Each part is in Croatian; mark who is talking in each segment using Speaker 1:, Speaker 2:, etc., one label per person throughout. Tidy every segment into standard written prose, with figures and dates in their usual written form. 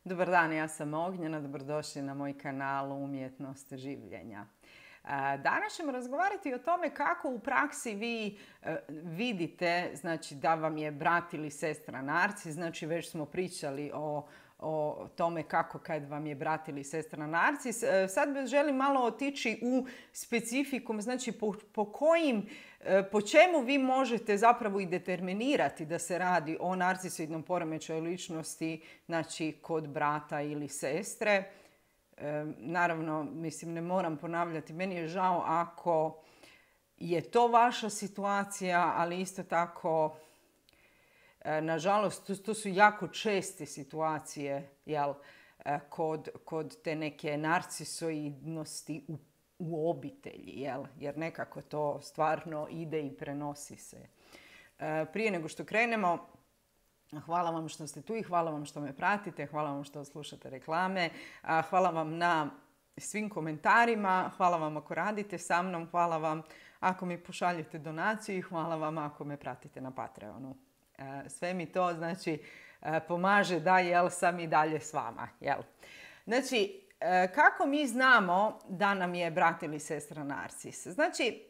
Speaker 1: Dobar dan, ja sam Ognjena, dobrodošli na moj kanal Umjetnost življenja. Danas ćemo razgovarati o tome kako u praksi vi vidite, znači, da vam je brat ili sestra narcis. Znači, već smo pričali o tome kako kad vam je brat ili sestra narcis. Sad želim malo otići u specifikum, znači po čemu vi možete zapravo i determinirati da se radi o narcisoidnom poremećaju ličnosti, znači kod brata ili sestre. Naravno, mislim, ne moram ponavljati, meni je žao ako je to vaša situacija, ali isto tako, nažalost, to su jako česte situacije, kod te neke narcisoidnosti u obitelji, jer nekako to stvarno ide i prenosi se. Prije nego što krenemo, hvala vam što ste tu i hvala vam što me pratite, hvala vam što slušate reklame, hvala vam na svim komentarima, hvala vam ako radite sa mnom, hvala vam ako mi pošaljete donaciju i hvala vam ako me pratite na Patreonu. Sve mi to, znači, pomaže da sam i dalje s vama. Znači, kako mi znamo da nam je brat ili sestra narcis? Znači,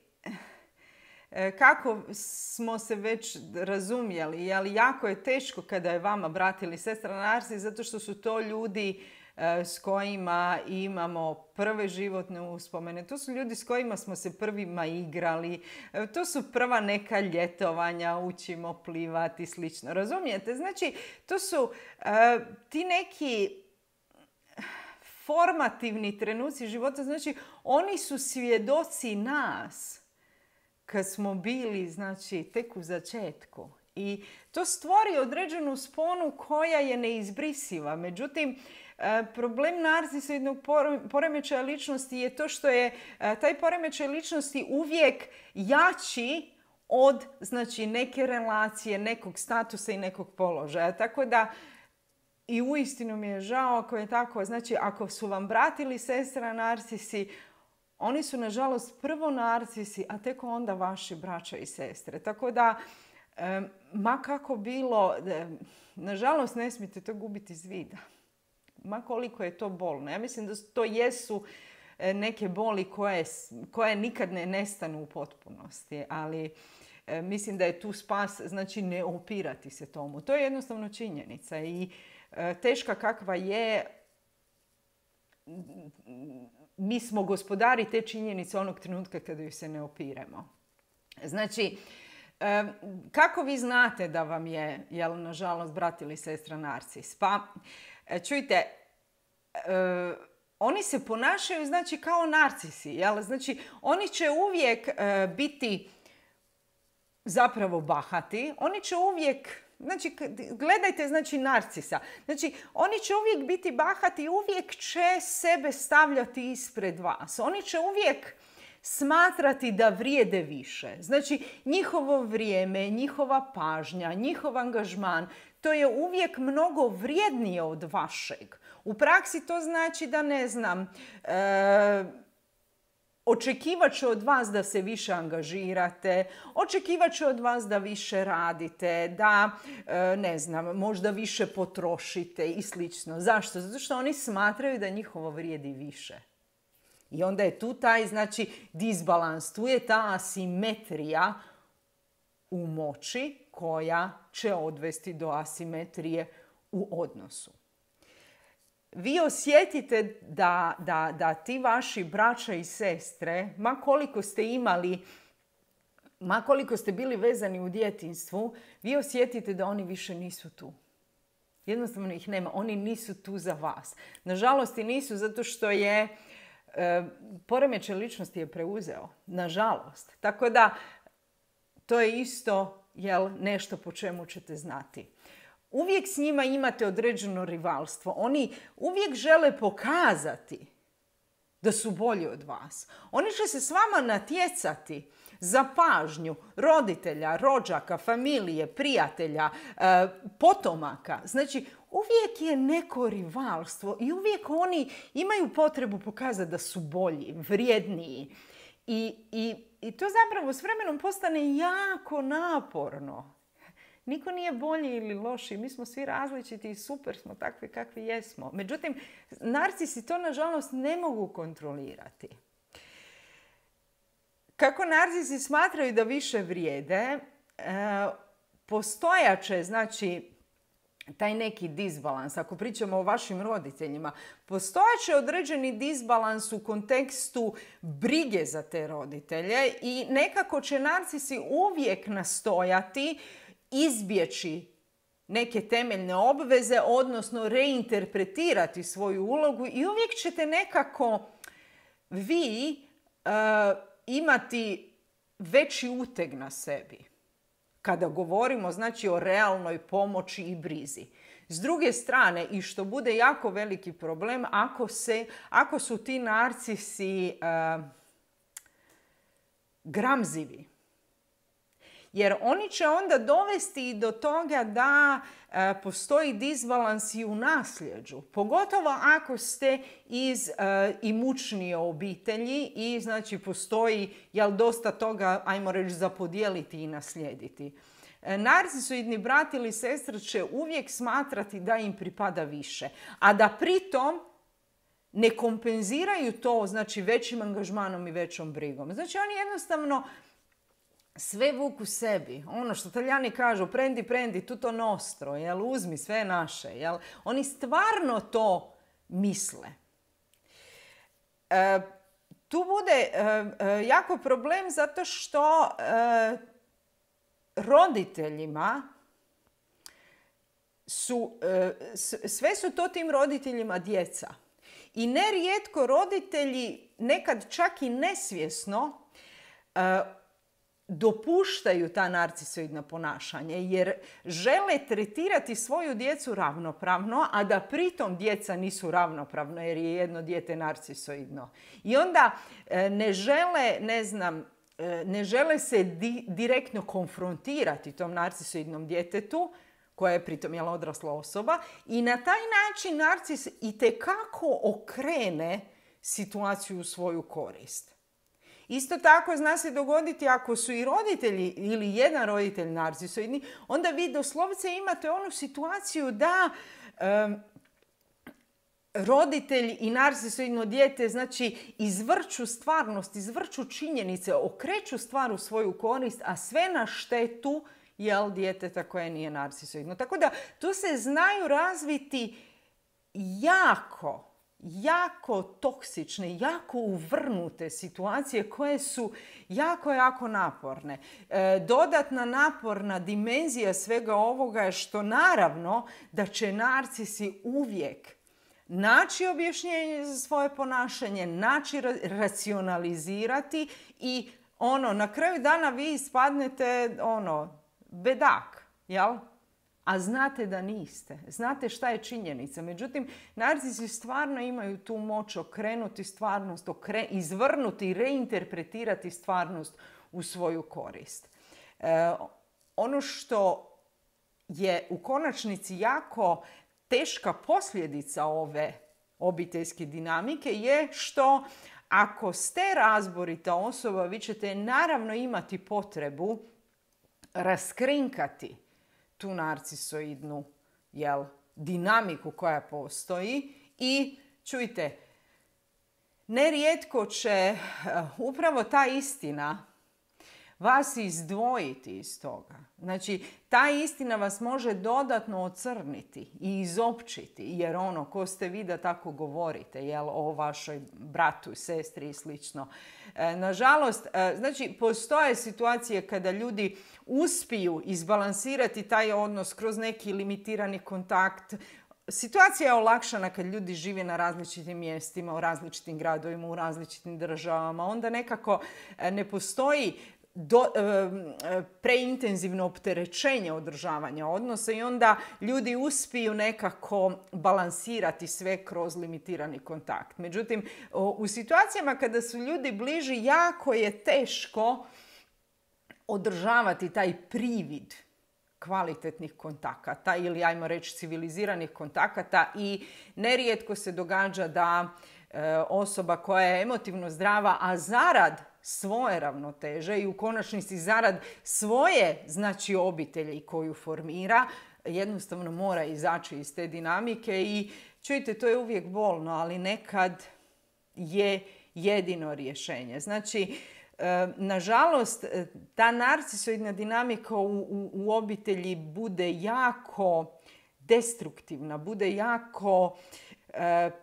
Speaker 1: kako smo se već razumjeli, jako je teško kada je vama brat ili sestra narcis, zato što su to ljudi s kojima imamo prve životne uspomene. To su ljudi s kojima smo se prvima igrali. To su prva neka ljetovanja, učimo plivati i slično. Razumijete? Znači, to su ti neki formativni trenuci života. Znači, oni su svjedoci nas kad smo bili, znači, tek u začetku. I to stvori određenu sponu koja je neizbrisiva. Međutim, problem narcisoidnog poremećaja ličnosti je to što je taj poremećaj ličnosti uvijek jači od, znači, neke relacije, nekog statusa i nekog položaja. Tako da i uistinu mi je žao ako je tako. Znači, ako su vam brat ili sestra narcisi, oni su, nažalost, prvo narcisi, a tek onda vaši braća i sestre. Tako da, ma kako bilo, nažalost, ne smijete to gubiti iz vida. Ma koliko je to bolno. Ja mislim da to jesu neke boli koje nikad ne nestanu u potpunosti, ali mislim da je tu spas, znači, ne opirati se tomu. To je jednostavno činjenica i teška kakva je, mi smo gospodari te činjenice onog trenutka kada ju se ne opiremo. Znači, kako vi znate da vam je, nažalost, brat ili sestra narcis? Pa, čujte, oni se ponašaju, znači, kao narcisi. Znači, oni će uvijek biti zapravo bahati. Oni će uvijek, znači, gledajte, znači, narcisa. Znači, oni će uvijek biti bahati i uvijek će sebe stavljati ispred vas. Oni će uvijek smatrati da vrijede više. Znači, njihovo vrijeme, njihova pažnja, njihov angažman, to je uvijek mnogo vrijednije od vašeg. U praksi to znači da, ne znam, očekivat će od vas da se više angažirate, očekivat će od vas da više radite, da, ne znam, možda više potrošite i slično. Zašto? Zato što oni smatraju da njihovo vrijedi više. I onda je tu taj, znači, disbalans, tu je ta asimetrija u moći koja će odvesti do asimetrije u odnosu. Vi osjetite da ti vaši braća i sestre, ma koliko ste bili vezani u djetinjstvu, vi osjetite da oni više nisu tu. Jednostavno ih nema. Oni nisu tu za vas. Nažalost, i nisu, zato što je poremećaj ličnosti je preuzeo. Nažalost. Tako da, to je isto, nešto po čemu ćete znati. Uvijek s njima imate određeno rivalstvo. Oni uvijek žele pokazati da su bolji od vas. Oni će se s vama natjecati za pažnju roditelja, rođaka, familije, prijatelja, potomaka. Znači, uvijek je neko rivalstvo i uvijek oni imaju potrebu pokazati da su bolji, vrijedniji. I to zapravo s vremenom postane jako naporno. Niko nije bolji ili loši, mi smo svi različiti i super smo takvi kakvi jesmo. Međutim, narcisi to nažalost ne mogu kontrolirati. Kako narcisi smatraju da više vrijede, postojaće, znači, taj neki disbalans, ako pričamo o vašim roditeljima, postojaće određeni disbalans u kontekstu brige za te roditelje i nekako će narcisi uvijek nastojati izbjeći neke temeljne obveze, odnosno reinterpretirati svoju ulogu i uvijek ćete nekako vi imati veći uteg na sebi. Kada govorimo, znači, o realnoj pomoći i brizi. S druge strane, i što bude jako veliki problem, ako su ti narcisi gramzivi. Jer oni će onda dovesti i do toga da postoji disbalans i u nasljeđu. Pogotovo ako ste iz imućnije obitelji i znači postoji dosta toga, ajmo reći, za podijeliti i naslijediti. Narcisoidni brat ili sestra će uvijek smatrati da im pripada više, a da pritom ne kompenziraju to, znači, većim angažmanom i većom brigom. Znači oni jednostavno sve vuku sebi. Ono što Talijani kažu, prendi, tutto nostro, uzmi sve naše. Oni stvarno to misle. Tu bude jako problem zato što roditeljima sve su to tim roditeljima djeca. I nerijetko roditelji nekad čak i nesvjesno dopuštaju ta narcisoidna ponašanja jer žele tretirati svoju djecu ravnopravno, a da pritom djeca nisu ravnopravno jer je jedno dijete narcisoidno. I onda ne žele se direktno konfrontirati tom narcisoidnom djetetu, koja je pritom odrasla osoba, i na taj način narcis itekako okrene situaciju u svoju korist. Isto tako zna se dogoditi ako su i roditelji ili jedan roditelj narcisoidni, onda vi doslovce imate onu situaciju da roditelj i narcisoidno dijete, znači, izvrću stvarnost, izvrću činjenice, okreću stvar u svoju korist, a sve na štetu djeteta koje nije narcisoidno. Tako da tu se znaju razviti jako toksične, jako uvrnute situacije koje su jako naporne. Dodatna naporna dimenzija svega ovoga je što naravno da će narcisi uvijek naći objašnjenje za svoje ponašanje, naći racionalizirati i na kraju dana vi ispadnete bedak, jel? A znate da niste. Znate šta je činjenica. Međutim, narcisi stvarno imaju tu moć okrenuti stvarnost, izvrnuti i reinterpretirati stvarnost u svoju korist. Ono što je u konačnici jako teška posljedica ove obiteljske dinamike je što ako ste razborita osoba, vi ćete naravno imati potrebu raskrinkati tu narcisoidnu dinamiku koja postoji i čujte, nerijetko će upravo ta istina vas izdvojiti iz toga. Znači, ta istina vas može dodatno ocrniti i izopćiti, jer ko ste vi da tako govorite, o vašoj bratu, sestri i slično. Nažalost, znači, postoje situacije kada ljudi uspiju izbalansirati taj odnos kroz neki limitirani kontakt. Situacija je olakšana kad ljudi žive na različitim mjestima, u različitim gradovima, u različitim državama. Onda nekako ne postoji preintenzivno opterećenje održavanja odnosa i onda ljudi uspiju nekako balansirati sve kroz limitirani kontakt. Međutim, u situacijama kada su ljudi bliži, jako je teško održavati taj privid kvalitetnih kontakata ili, ajmo reći, civiliziranih kontakata i nerijetko se događa da osoba koja je emotivno zdrava, a zarad svoje ravnoteže i u konačnici zarad svoje, znači, obitelji koju formira, jednostavno mora izaći iz te dinamike i čujte, to je uvijek bolno, ali nekad je jedino rješenje. Znači, nažalost, ta narcisoidna dinamika u obitelji bude jako destruktivna, bude jako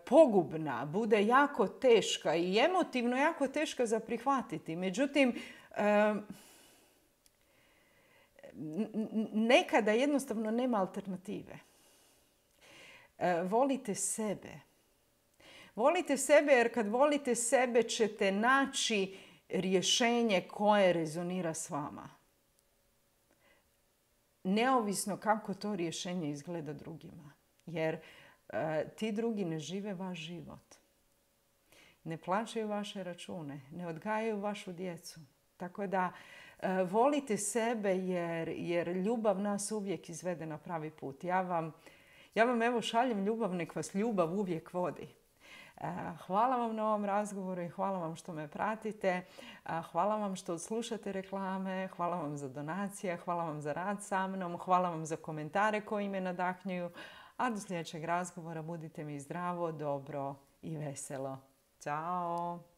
Speaker 1: pogubna, bude jako teška i emotivno jako teška za prihvatiti. Međutim, nekada jednostavno nema alternative. Volite sebe. Volite sebe jer kad volite sebe ćete naći rješenje koje rezonira s vama. Neovisno kako to rješenje izgleda drugima. Jer ti drugi ne žive vaš život. Ne plaćaju vaše račune. Ne odgajaju vašu djecu. Tako da volite sebe jer ljubav nas uvijek izvede na pravi put. Ja vam evo šaljem ljubav, nek vas ljubav uvijek vodi. Hvala vam na ovom razgovoru i hvala vam što me pratite. Hvala vam što slušate reklame, hvala vam za donacije, hvala vam za rad sa mnom, hvala vam za komentare koji me nadahnjuju. A do sljedećeg razgovora budite mi zdravo, dobro i veselo. Ćao!